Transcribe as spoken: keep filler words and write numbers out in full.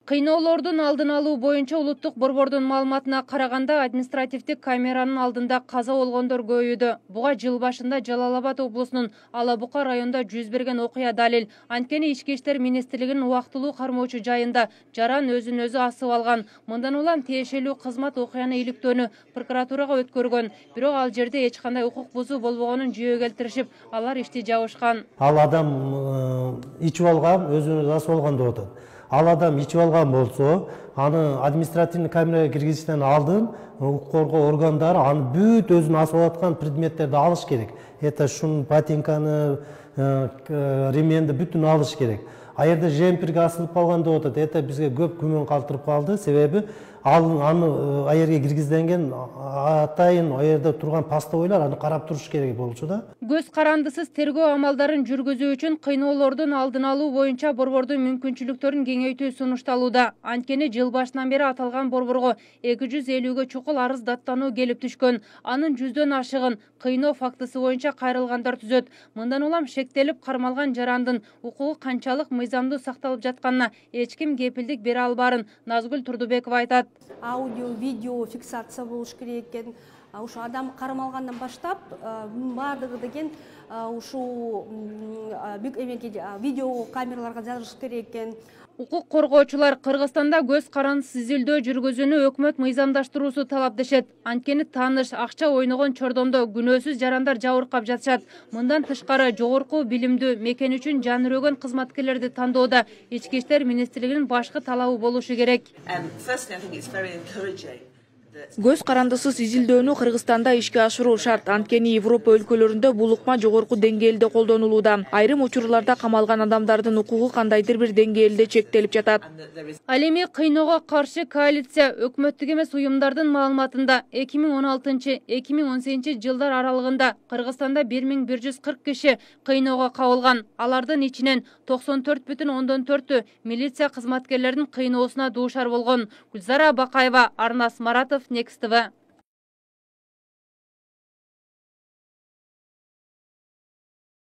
Кыйноолордун алдын алуу боюнча улуттук борбордун маалыматына караганда административдик камеранын алдында каза болгондор көбөйдү. Буга жыл башында Жалал Абад облусунун Ала Бука районунда жүз берген окуя далил. Анткени ички иштер министрлигинин убактылуу кармоочу жайында жаран өзүн өзү асып алган. Мындан улам тиешелүү кызмат окуяны иликтөөнү прокуратурага өткөргөн. Бирок ал жерде эч кандай укук бузуу болбогонун жүйө келтиришип, алар ишти жабышкан. Ал адам ичип алган, өзүн өзү асып алган деп атат. Ал адам ичип алган болсо, аны административный камерага киргизиштен алдын укук коргоо органдары аны бүт өзүн асып аткан предметтерди алыш керек. Это шун, ботинканы, ременди бүтүн алыш керек. А жерде жемперге асылып калган деп атат. Это бизге көп күмөн калтырып калды. Себеби ал аны а жерге киргизилген атайын а жерде турган постовойлор аны карап туруш керек болчу да. Көз карандысыз тергөө амалдарын жүргүзүү үчүн кыйноолордун алдын алуу боюнча борбордун мүмкүнчүлүктөрүн кеңейтүү сунушталууда. Анткени жыл башынан бери аталган борборго эки жүз элүүгө чукул арыз даттануу келип түшкөн. Анын жүздөн ашыгын кыйноо фактысы боюнча кайрылгандар түзөт. Мындан улам шектелип кармалган жарандын укугу канчалык мыйзамдуу сакталып жатканына эч ким кепилдик бере албаарын Назгүл Турдубекова айтат. Аудио, видео фиксация болуш керек экен. Ушу адам кармалгандан баштап баардыгы деген ушу видео камераларга жазыш керек экен. Укук коргоочулар Кыргызстанда көз карандысыз изилдөө жүргүзүүнү өкмөт мыйзамдаштыруусу талап дешет. Анткени тааныш, акча ойногон чордомдо күнөөсүз жарандар жабыркап жатышат. Мындан тышкары жогорку билимдүү мекен үчүн жан өрөгөн кызматкерлерди тандоодо ички иштер министрлигинин башкы талабы болушу керек. Көз карандысыз изилдөөнү Кыргызстанда ишке ашыруу шарт. Анткени Европа өлкөлөрүндө бул ыкма жогорку деңгээлде колдонулууда. Айрым учурларда камалган адамдардын укугу кандайдыр бир деңгээлде чектелип жатат. Ал эми кыйноого каршы коалиция өкмөттүк эмес уюмдардын маалыматында эки миң он алтынчы — эки миң он сегизинчи жылдар аралыгында Кыргызстанда бир миң бир жүз кырк киши кыйноого кабылган. Алардын ичинен токсон төрт бүтүн ондон төртү милиция кызматкерлеринин кыйноосуна дуушар болгон. Гүлзара Бакаева, Арнас Маратов, Next T V.